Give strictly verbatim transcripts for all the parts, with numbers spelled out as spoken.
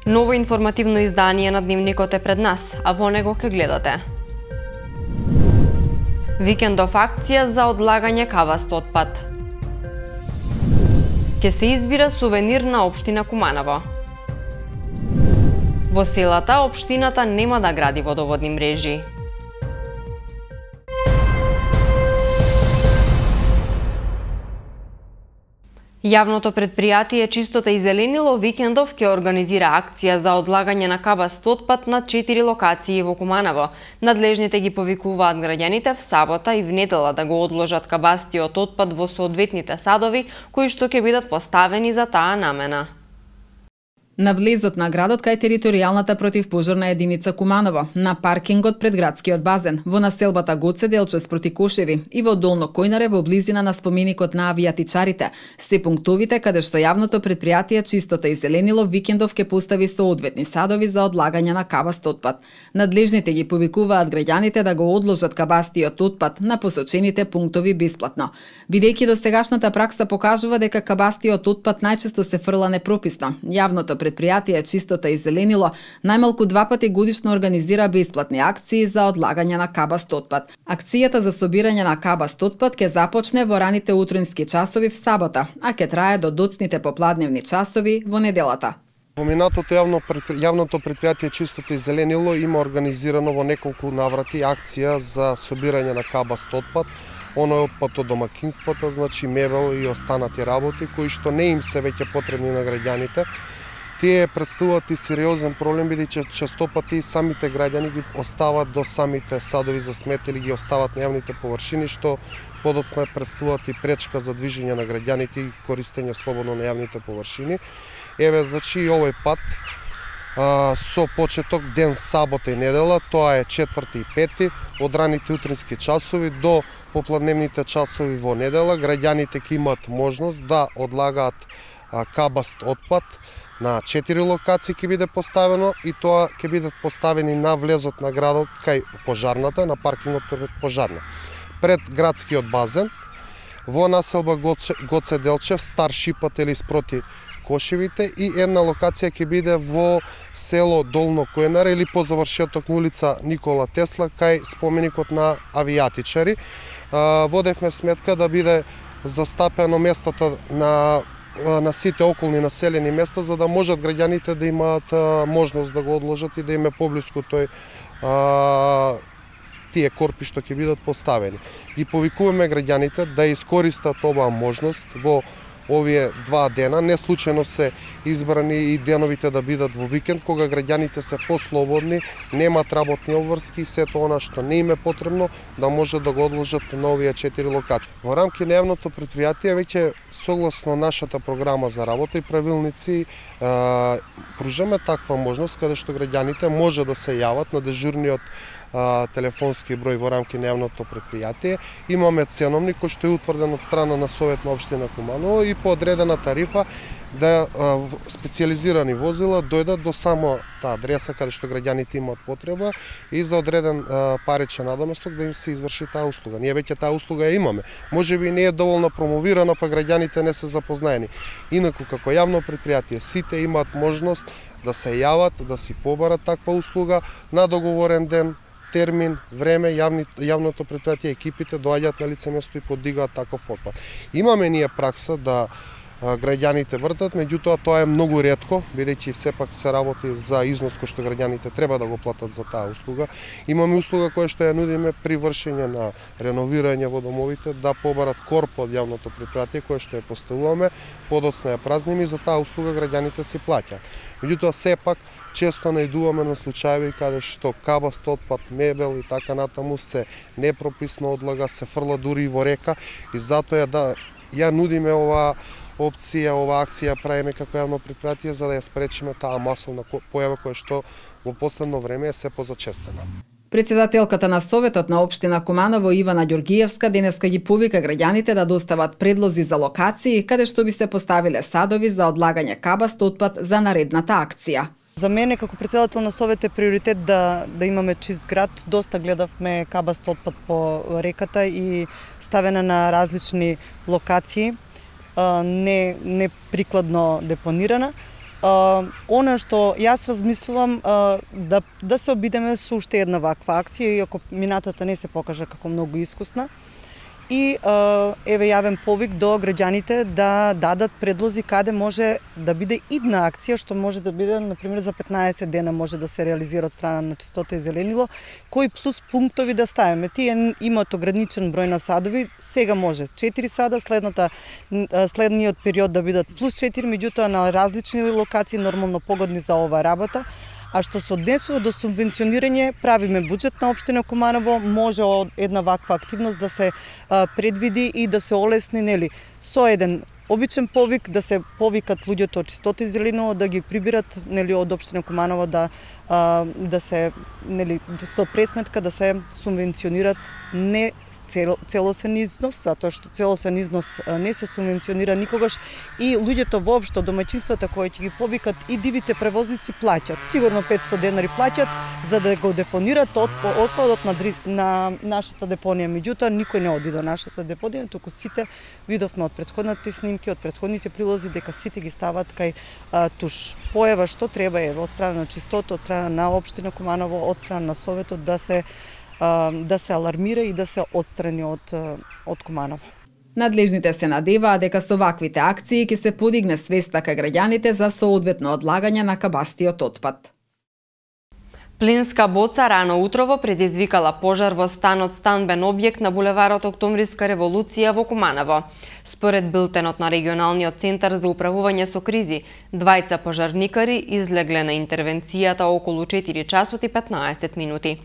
Ново информативно издание на Дневникот е пред нас, а во него ке гледате. Викендов акција за одлагање каваст отпад. Ке се избира сувенир на општина Куманово. Во селата, општината нема да гради водоводни мрежи. Јавното предпријатие Чистота и зеленило викендов ќе организира акција за одлагање на кабаст отпад на четири локации во Куманово. Надлежните ги повикуваат граѓаните в сабота и в недела да го одложат кабастиот отпад во соодветните садови кои што ќе бидат поставени за таа намена. На влезот на градот кај територијалната противпожарна единица Куманово, на паркингот пред градскиот базен, во населбата Гоце Делчев спроти Кошеви и во Долно Којнаре во близина на споменикот на авијатичарите, се пунктовите каде што јавното предпријатие Чистота и зеленило викендов ќе постави соодветни садови за одлагање на кабаст отпад. Надлежните ги повикуваат граѓаните да го одложат кабастиот отпад на посочените пунктови бесплатно. Бидејќи досегашната пракса покажува дека кабастиот отпад најчесто се фрла непрописно, јавното предпријатие Чистота и зеленило најмалку два пати годишно организира бесплатни акции за одлагање на кабаст отпад. Акцијата за собирање на кабаст отпад ќе започне во раните утрински часови в сабота, а ќе трае до доцните попладневни часови во неделата. Поминатото јавно јавното предпријатие Чистота и зеленило има организирано во неколку наврати акција за собирање на кабаст отпад. Оно е отпад од домакинствата, значи мебел и останати работи кои што не им се веќе потребни на граѓаните. Тие представуваат и сериозен проблем, бидејќи честопати и самите граѓани ги остават до самите садови за смет или ги остават на јавните површини, што подоцна представуваат и пречка за движење на граѓаните и користење слободно на јавните површини. Еве, значи, и овој пат а, со почеток ден сабота и недела, тоа е четврти и пети, од раните утрински часови до попладневните часови во недела, граѓаните ќе имаат можност да одлагаат а, кабаст отпад. На четири локации ќе биде поставено и тоа ќе бидат поставени на влезот на градот кај пожарната, на паркингот пред пожарна. Пред градскиот базен, во населба Гоце, Гоце Делчев, Стар Шипат или спроти Кошевите, и една локација ќе биде во село Долно Којнаре или по завршеток на улица Никола Тесла кај споменикот на авијатичари. Водевме сметка да биде застапено местата на на сите околни населени места, за да можат граѓаните да имаат а, можност да го одложат и да им е поблиску тој а, тие корпи што ќе бидат поставени. И повикуваме граѓаните да искористат оваа можност во овие два дена. Не случајно се избрани и деновите да бидат во викенд, кога граѓаните се послободни, немаат работни обврски и сето она што не им е потребно да може да го одложат на овие четири локации. Во рамки на јавното предпријатие веќе согласно нашата програма за работа и правилници пружаме таква можност каде што граѓаните може да се јават на дежурниот телефонски број во рамки на јавното предпријатие. Имаме ценовник кој што е утврден од страна на Совет на општина Куманово и по одредена тарифа да специјализирани возила дојдат до само таа адреса каде што граѓаните имаат потреба и за одреден паричен надоместок да им се изврши таа услуга. Ние веќе таа услуга ја имаме. Можеби не е доволно промовирана, па граѓаните не се запознаени. Инаку како јавно предпријатие сите имаат можност да се јават, да си побарат таква услуга на договорен ден, термин, време, јавни, јавното предпријатие, екипите доаѓаат на лице место и подигаат таков отпад. Имаме ние пракса да а, граѓаните вртат, меѓутоа тоа е многу ретко, бидејќи сепак се работи за износ кој што граѓаните треба да го платат за таа услуга. Имаме услуга која што ја нудиме при вршење на реновирање во домовите, да побарат корп од јавното предпријатие кое што ја поставуваме, подоцна ја празниме и за таа услуга граѓаните си плаќаат. Меѓутоа сепак често најдуваме на случаи каде што кабаст отпад, мебел и така натаму се непрописно одлага, се фрла дури и во река и затоа да ја нудиме оваа опција, оваа акција правиме како јавно предпријатие за да ја спречиме таа масовна појава која што во последно време е се позачестена. Председателката на Советот на општина Куманово Ивана Ѓоргиевска денеска ги повика граѓаните да достават предлози за локации каде што би се поставиле садови за одлагање кабаст отпад за наредната акција. За мене како председател на Совет е приоритет да да имаме чист град. Доста гледавме кабаст отпад по реката и ставена на различни локации, не не прикладно депонирана. а, она што јас размислувам а, да да се обидеме со уште една ваква акција, иако минатата не се покажа како многу искусна. И еве јавен повик до граѓаните да дадат предлози каде може да биде идна акција, што може да биде, например, за петнаесет дена може да се реализира од страна на Чистота и зеленило, кои плюс пунктови да ставиме. Тие имаат ограничен број на садови, сега може четири сада, следната следниот период да бидат плюс четири, меѓутоа на различни локации, нормално погодни за оваа работа. А што се однесува до субвенционирање, правиме буџет на општина Куманово, може една ваква активност да се а, предвиди и да се олесни, нели, со еден обичен повик да се повикат луѓето од Чистота и зеленило да ги прибират, нели, од општина Куманово да а, да се, нели, со пресметка да се субвенционират не цел, целосен износ, затоа што целосен износ не се субвенционира никогаш и луѓето воопшто, домаќинствата кои ќе ги повикат и дивите превозници плаќат. Сигурно петсто денари плаќат за да го депонират отпадот на, на нашата депонија. Меѓутоа никој не оди до нашата депонија, туку сите видовме од претходните снимки, од претходните прилози дека сите ги стават кај а, туш. Поева што треба е од страна на Чистота, од страна на општина Куманово, од страна на Советот да се да се алармира и да се отстрани од, од Куманово. Надлежните се надеваат дека со ваквите акции ќе се подигне свеста кај граѓаните за соодветно одлагање на кабастиот отпад. Плинска боца рано утрово предизвикала пожар во станот станбен објект на булеварот Октомвриска револуција во Куманово. Според билтенот на регионалниот центар за управување со кризи, двајца пожарникари излегле на интервенцијата околу четири часот и петнаесет минути.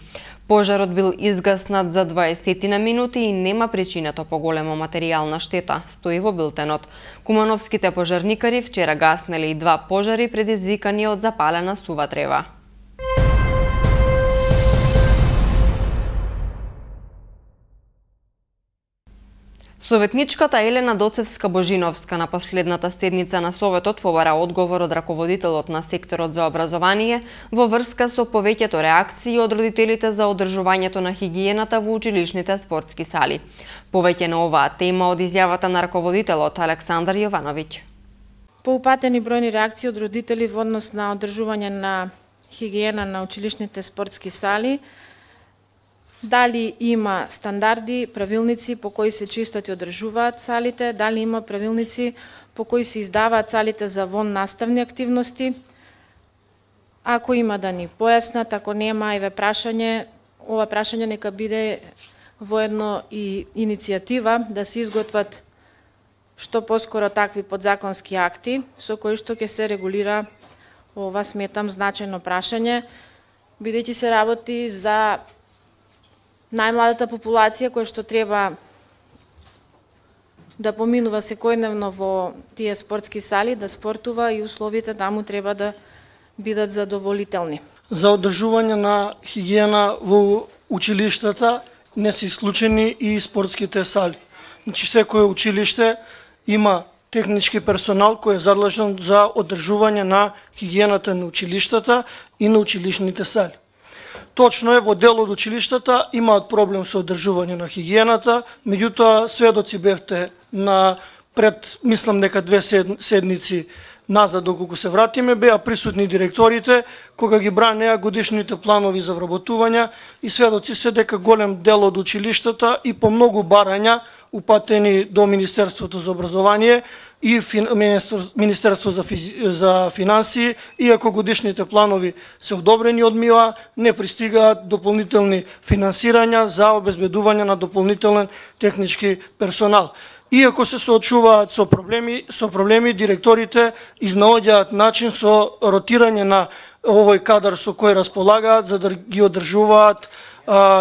Пожарот бил изгаснат за дваесет на минути и нема причинато поголема материјална штета, стои во билтенот. Кумановските пожарникари вчера гаснеле и два пожари предизвикани од запалена сува трева. Советничката Елена Доцевска-Божиновска на последната седница на Советот побара одговор од раководителот на секторот за образование во врска со повеќето реакции од родителите за одржувањето на хигиената во училишните спортски сали. Повеќе на оваа тема од изјавата на раководителот Александар Јовановиќ. Поупатени бројни реакции од родители во однос на одржување на хигиена на училишните спортски сали. Дали има стандарди, правилници по кои се чистат и одржуваат салите, дали има правилници по кои се издаваат салите за вон наставни активности. Ако има да ни појаснат, ако нема, еве прашање, ова прашање нека биде воедно и иницијатива да се изготват што поскоро такви подзаконски акти со кои што ќе се регулира ова, сметам, значајно прашање, бидејќи се работи за најмладата популација која што треба да поминува секојдневно во тие спортски сали, да спортува и условите таму треба да бидат задоволителни. За одржување на хигиена во училиштата не се исклучени и спортските сали. Значи секое училиште има технички персонал кој е задлежен за одржување на хигиената на училиштата и на училишните сали. Точно е, во дел од училиштата имаат проблем со одржување на хигиената, меѓутоа сведоци бевте на пред, мислам дека две седници назад, доколку се вратиме, беа присутни директорите кога ги бранеа годишните планови за вработување и сведоци се дека голем дел од училиштата и по многу барања упатени до Министерството за образование и Министерство за, за финансии, иако годишните планови се одобрени од МИОА, не пристигаат дополнителни финансирања за обезбедување на дополнителен технички персонал. Иако се соочуваат со проблеми, со проблеми директорите изнаоѓаат начин со ротирање на овој кадар со кој располагаат за да ги одржуваат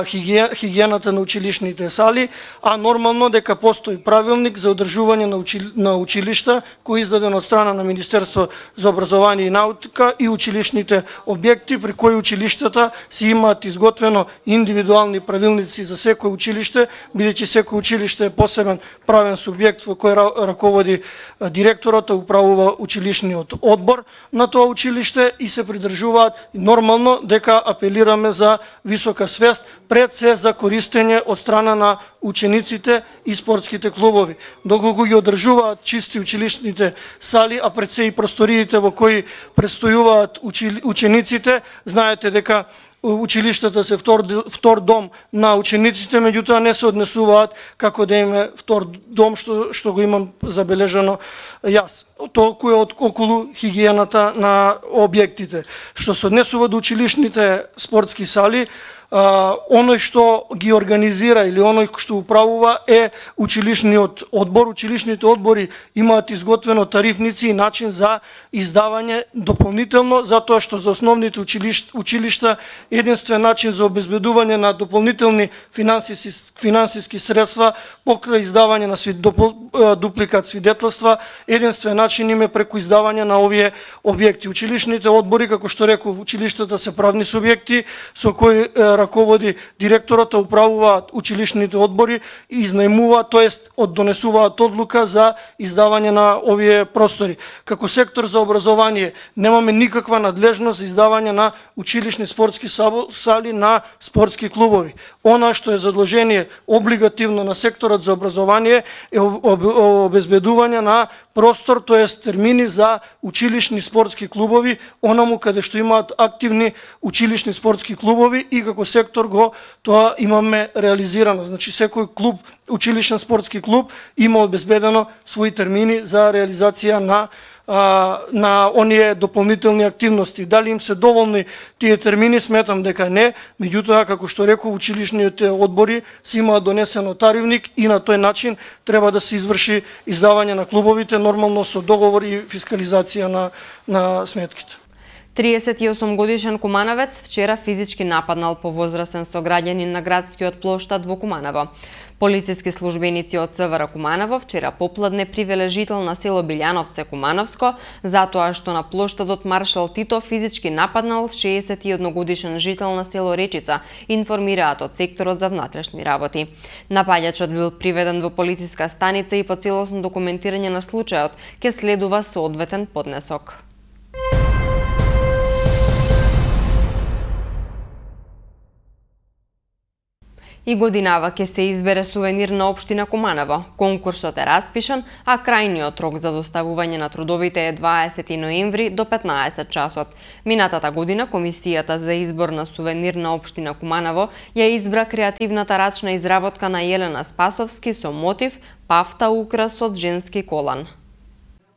хигиената на училишните сали, а нормално дека постои правилник за одржување на, учили, на училишта кој е издаден од страна на Министерство за образование и наука и училишните објекти, при кои училиштата си имаат изготвено индивидуални правилници за секој училиште, бидејќи секој училиште е посебен правен субјект во кој раководи директорот, управува училишниот одбор на тоа училиште и се придржуваат нормално дека апелираме за висока свест тоест пред се за користење од страна на учениците и спортските клубови. Доколку ги одржуваат чисти училишните сали, а пред се и просториите во кои престојуваат учениците, знаете дека училиштата се втор, втор дом на учениците, меѓутоа не се однесуваат како да име втор дом, што, што го имам забележано јас. Толку е од околу хигиената на објектите. Што се однесува до училишните спортски сали, Uh, оној што ги организира или оној што управува е училишниот одбор. Училишните одбори имаат изготвено тарифници и начин за издавање дополнително, затоа што за основните училиш, училишта единствен начин за обезбедување на дополнителни финансиски, финансиски средства покрај издавање на свид, допол, дупликат свидетелства, единствен начин им е преку издавање на овие објекти. Училишните одбори, како што реков, училиштата се правни субјекти со кои раководи директорот, управуваат училишните одбори и изнајмуваат, тоест оддонесуваат одлука за издавање на овие простори. Како сектор за образование немаме никаква надлежност за издавање на училишни спортски сали на спортски клубови. Она што е задолжение облигативно на секторот за образование е обезбедување на простор, тоест термини за училишни спортски клубови, онаму каде што имаат активни училишни спортски клубови и како сектор го тоа имаме реализирано. Значи секој клуб, училишен спортски клуб има обезбедено своји термини за реализација на а, на оние дополнителни активности. Дали им се доволни тие термини, сметам дека не, меѓутоа како што реков, училишните одбори си имаат донесено таривник и на тој начин треба да се изврши издавање на клубовите, нормално со договор и фискализација на на сметките. триесет и осум годишен кумановец вчера физички нападнал повозрасен сограѓанин на градскиот плоштад во Куманово. Полициски службеници од ЦВР Куманово вчера попладне привеле жител на село Билјановце Кумановско затоа што на плоштадот Маршал Тито физички нападнал шеесет и еден годишен жител на село Речица, информираат од секторот за внатрешни работи. Напаѓачот бил приведен во полициска станица и по целосно документирање на случајот ќе следува соодветен поднесок. И годинава ќе се избере сувенир на општина Куманово. Конкурсот е распишан, а крајниот рок за доставување на трудовите е дваесети ноември до петнаесет часот. Минатата година Комисијата за избор на сувенир на општина Куманово ја избра креативната рачна изработка на Елена Спасовски со мотив пафта украс од женски колан.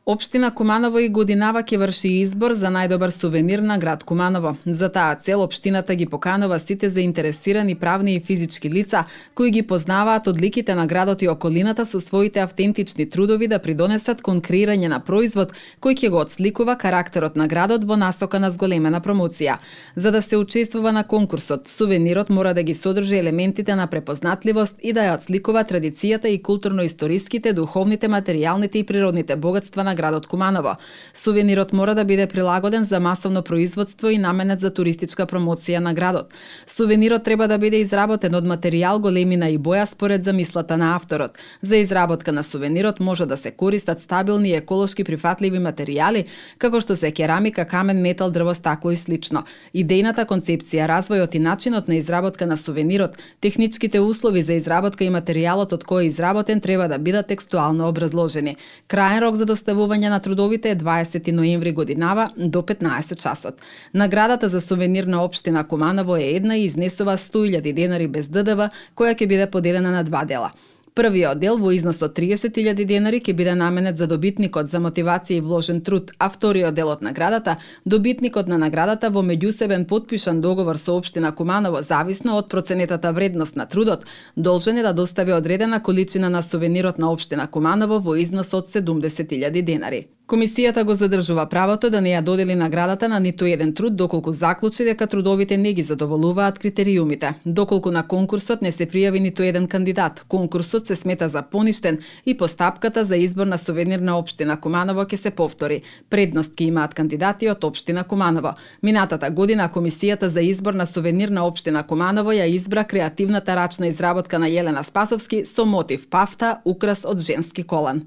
Општина Куманово и годинава ќе врши избор за најдобар сувенир на град Куманово. За таа цел општината ги поканува сите заинтересирани правни и физички лица кои ги познаваат одликите на градот и околината со своите автентични трудови да придонесат кон креирање на производ кој ќе го отсликува карактерот на градот во насока на зголемена промоција. За да се учествува на конкурсот, сувенирот мора да ги содржи елементите на препознатливост и да ја отсликува традицијата и културно-историските, духовните, материјалните и природните богатства на градот Куманово. Сувенирот мора да биде прилагоден за масовно производство и наменет за туристичка промоција на градот. Сувенирот треба да биде изработен од материјал, големина и боја според замислата на авторот. За изработка на сувенирот може да се користат стабилни и еколошки прифатливи материјали, како што се керамика, камен, метал, дрво, стакло и слично. Идејната концепција, развојот и начинот на изработка на сувенирот, техничките услови за изработка и материјалот од кој е изработен треба да бидат текстуално образложени. Краен рок за доставување на трудовите е дваесети ноември годинава до петнаесет часот. Наградата за сувенир на општина Куманово е една и изнесува сто илјади денари без Д Д В, која ќе биде поделена на два дела. Првиот дел во износ од триесет илјади денари ќе биде наменет за добитникот за мотивација и вложен труд, а вториот дел од наградата, добитникот на наградата во меѓусебен потпишан договор со општина Куманово зависно од проценетата вредност на трудот, должен е да достави одредена количина на сувенирот на општина Куманово во износ од седумдесет илјади денари. Комисијата го задржува правото да не ја додели наградата на ниту еден труд доколку заклучи дека трудовите не ги задоволуваат критериумите. Доколку на конкурсот не се пријави ниту еден кандидат, конкурсот се смета за поништен и постапката за избор на сувенир на општина Куманово ќе се повтори. Предност ќе имаат кандидати од општина Куманово. Минатата година Комисијата за избор на сувенир на општина Куманово ја избра креативната рачна изработка на Елена Спасовски со мотив пафта украс од женски колан.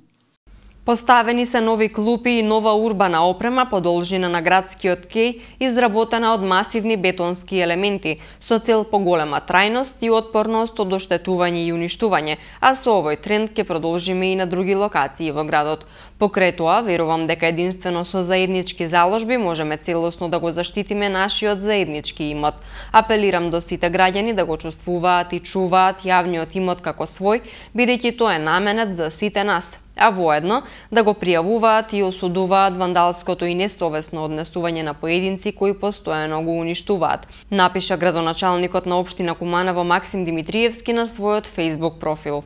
Поставени се нови клупи и нова урбана опрема по должина на градскиот кеј, изработена од масивни бетонски елементи, со цел поголема трајност и отпорност од оштетување и уништување, а со овој тренд ќе продолжиме и на други локации во градот. Покрај тоа, верувам дека единствено со заеднички заложби можеме целосно да го заштитиме нашиот заеднички имот. Апелирам до сите граѓани да го чувствуваат и чуваат јавниот имот како свој, бидејќи тоа е наменет за сите нас, а воедно да го пријавуваат и осудуваат вандалското и несовесно однесување на поединци кои постојано го уништуваат, напиша градоначалникот на општина Куманово Максим Димитриевски на својот Facebook профил.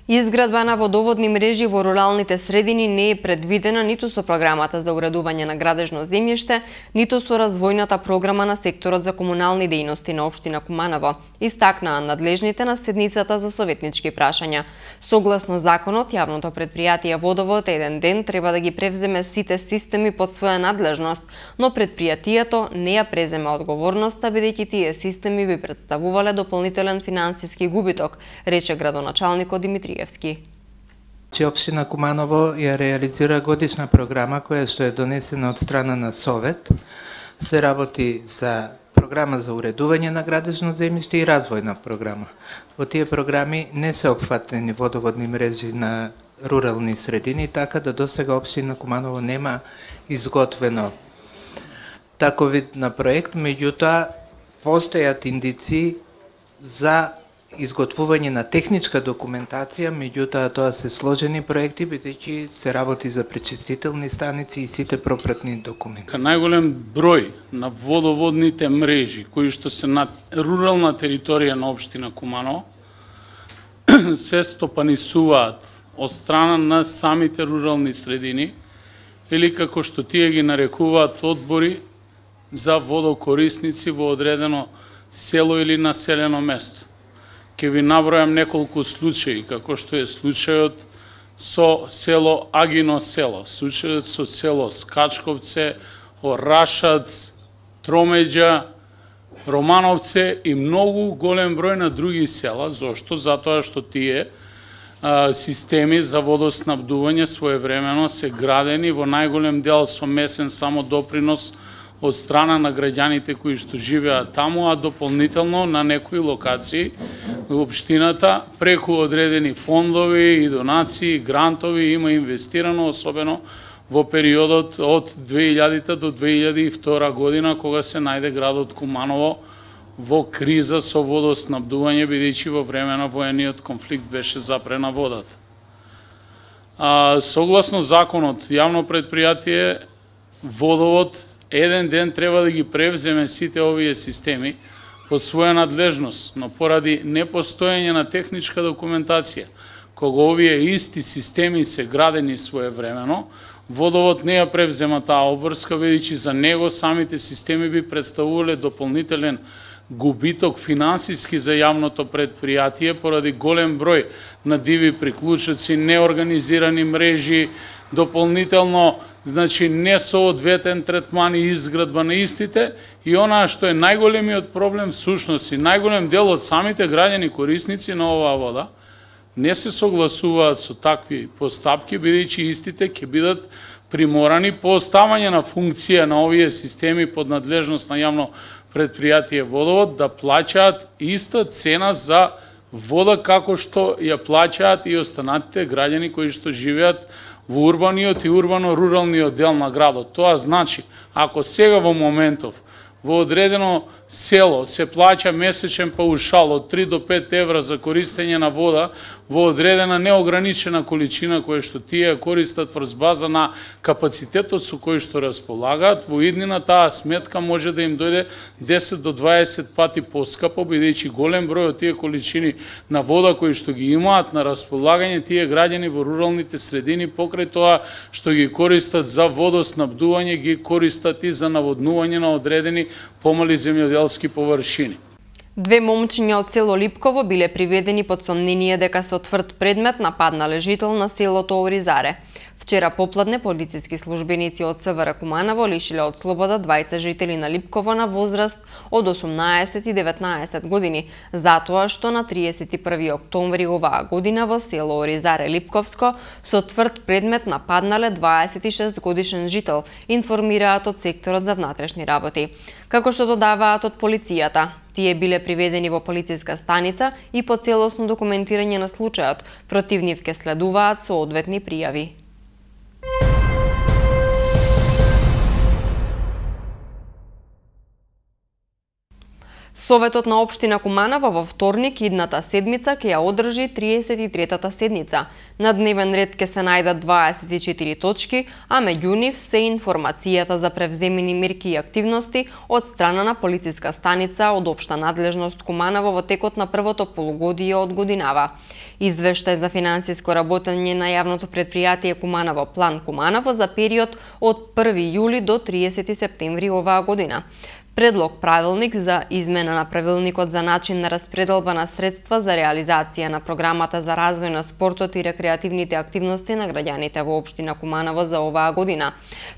Изградба на водоводни мрежи во руралните средини не е предвидена ниту со програмата за уредување на градежно земјиште, ниту со развојната програма на секторот за комунални дејности на општина Куманово, истакнаа надлежните на седницата за советнички прашања. Согласно законот, јавното претпријатие Водовод еден ден треба да ги превземе сите системи под своја надлежност, но претпријатието не ја презема одговорноста, бидејќи тие системи би представувале дополнителен финансиски губиток, рече градоначалникот Димитриевски. Че општина Куманово ја реализира годишна програма која што е донесена од страна на Совет. Се работи за програма за уредување на градежно земјиште и развојна програма. Во тие програми не се опфатени водоводни мрежи на рурални средини, така да досега општина Куманово нема изготвено таков вид на проект, меѓутоа постојат индици за изготвување на техничка документација, меѓутоа тоа се сложени проекти, бидејќи се работи за пречистителни станици и сите пропратни документи. Најголем број на водоводните мрежи кои што се на рурална територија на општина Куманово се стопанисуваат од страна на самите рурални средини или како што тие ги нарекуваат одбори за водокорисници во одредено село или населено место. Ке ви набројам неколку случаи, како што е случајот со село Агино село, случајот со село Скачковце, Орашац, Тромеѓа, Романовце и многу голем број на други села. Зошто? Затоа што тие а, системи за водоснабдување своевремено се градени во најголем дел со месен само допринос од страна на граѓаните кои што живеат таму, а дополнително на некои локации во општината преку одредени фондови и донации, грантови има инвестирано, особено во периодот од две илјади до две илјади и втора година, кога се најде градот Куманово во криза со водоснабдување, бидејќи во време на воениот конфликт беше запрена водата. А, согласно законот, јавно претпријатие Водовод еден ден треба да ги превземе сите овие системи под своја надлежност, но поради непостоење на техничка документација, кога овие исти системи се градени своевремено, Водовод не ја превзема таа обврска, бидејќи за него самите системи би представувале дополнителен губиток финансиски за јавното претпријатие поради голем број на диви приклучоци, неорганизирани мрежи, дополнително значи несоодветен третман и изградба на истите, и онаа што е најголемиот проблем всушност и најголем дел од самите граѓани корисници на оваа вода не се согласуваат со такви постапки, бидејќи истите ќе бидат приморани по оставање на функција на овие системи под надлежност на јавно претпријатие Водовод да плаќаат иста цена за вода како што ја плаќаат и останатите граѓани кои што живеат во урбаниот и урбано-руралниот дел на градот. Тоа значи, ако сега во моментов во одредено село се плаќа месечен паушал од три до пет евра за користење на вода во одредена неограничена количина која што тие користат врз база на капацитетот со кој што располагаат, во иднина таа сметка може да им дојде десет до дваесет пати поскапо, бидејќи голем број од тие количини на вода кои што ги имаат на располагање тие граѓани во руралните средини, покрај тоа што ги користат за водоснабдување, ги користат и за наводнување на одредени помали земјоделски површини. Две момчиња од село Липково биле приведени под сомнение дека со тврд предмет нападнале жител на селото Оризаре. Вчера попладне полициски службеници од СВР Куманово лишиле од слобода двајца жители на Липково на возраст од осумнаесет и деветнаесет години, затоа што на триесет и први октомври оваа година во село Оризаре Липковско со тврд предмет нападнале дваесет и шест годишен жител, информираат од секторот за внатрешни работи. Како што додаваат од полицијата, тие биле приведени во полициска станица и по целосно документирање на случајот, против нив ке следуваат соодветни пријави. Советот на општина Куманово во вторник идната седмица ќе ја одржи триесет и третата седница. На дневен ред ќе се најдат дваесет и четири точки, а меѓу нив се информацијата за превземени мерки и активности од страна на полициска станица од општа надлежност Куманово во текот на првото полугодие од годинава. Извештај за финансиско работење на јавното претпријатие Куманово План Куманово за период од први јули до триесети септември оваа година. Предлог правилник за измена на правилникот за начин на распределба на средства за реализација на програмата за развој на спортот и рекреативните активности на граѓаните во општина Куманово за оваа година.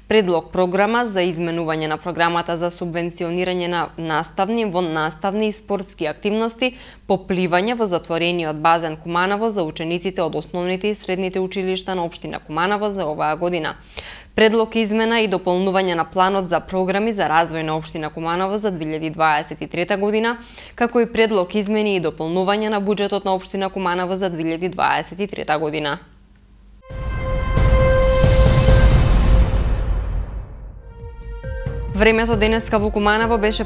Предлог програма за изменување на програмата за субвенционирање на наставни, воннаставни и спортски активности по пливање во затворениот базен Куманово за учениците од основните и средните училишта на општина Куманово за оваа година. Предлог измена и дополнување на планот за програми за развој на општина Куманово за две илјади дваесет и трета година, како и предлог измени и дополнување на буџетот на општина Куманово за две илјади дваесет и трета година. Времето денеска во Куманово беше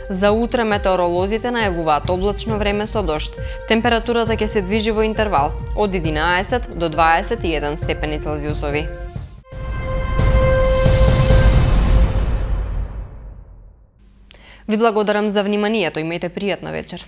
За утре метеоролозите најавуваат облачно време со дожд. Температурата ќе се движи во интервал од единаесет до дваесет и еден степени Целзиусови. Ви благодарам за вниманието, имајте пријатна вечер.